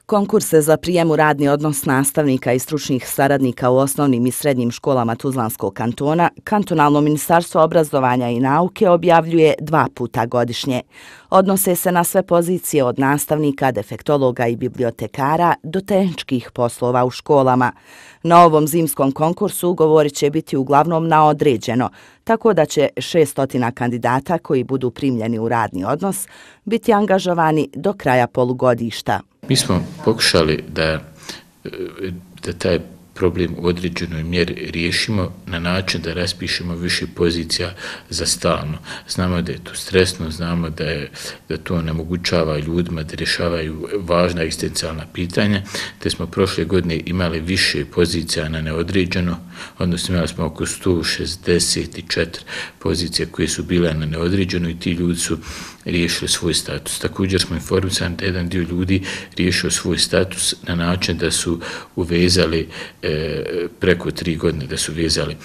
Konkurse za prijem u radni odnos nastavnika i stručnih saradnika u osnovnim i srednjim školama Tuzlanskog kantona, Kantonalno ministarstvo obrazovanja i nauke objavljuje 2 puta godišnje. Odnose se na sve pozicije od nastavnika, defektologa i bibliotekara do tehničkih poslova u školama. Na ovom zimskom konkursu ugovori će biti uglavnom na određeno, tako da će 600 kandidata koji budu primljeni u radni odnos biti angažovani do kraja polugodišta. Mi smo pokušali da taj problem u određenoj mjeri riješimo na način da raspišemo više pozicija za stalno. Znamo da je to stresno, znamo da to onemogućava ljudima da rješavaju važna egzistencijalna pitanja, te smo prošle godine imali više pozicija na neodređeno, odnosno imali smo oko 164 pozicije koje su bile na neodređeno i ti ljudi su riješili svoj status. Također smo informisani da jedan dio ljudi riješio svoj status na način da su uvezali preko 3 godine, da su vezali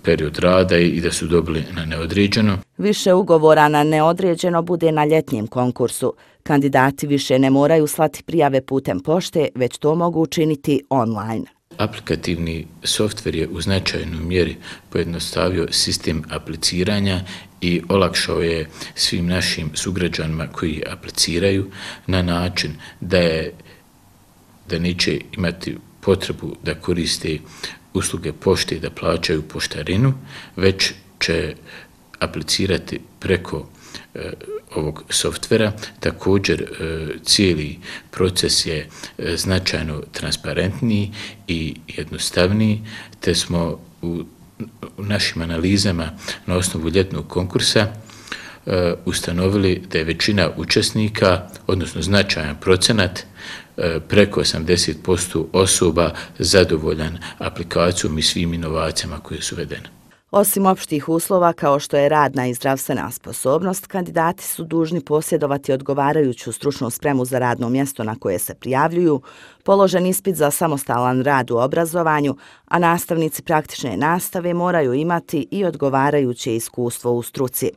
period rada i da su dobili na neodređeno. Više ugovora na neodređeno bude na ljetnjem konkursu. Kandidati više ne moraju slati prijave putem pošte, već to mogu učiniti online. Aplikativni softver je u značajnoj mjeri pojednostavio sistem apliciranja i olakšao je svim našim sugrađanima koji apliciraju na način da neće imati potrebu da koriste usluge pošte i da plaćaju poštarinu, već će aplicirati preko ovog softvera. Također cijeli proces je značajno transparentniji i jednostavniji, te smo u našim analizama na osnovu ljetnog konkursa ustanovili da je većina učesnika, odnosno značajan procenat, preko 80% osoba zadovoljan aplikacijom i svim inovacijama koje su uvedene. Osim opštih uslova kao što je radna i zdravstvena sposobnost, kandidati su dužni posjedovati odgovarajuću stručnu spremu za radno mjesto na koje se prijavljuju, položen ispit za samostalan rad u obrazovanju, a nastavnici praktične nastave moraju imati i odgovarajuće iskustvo u struci.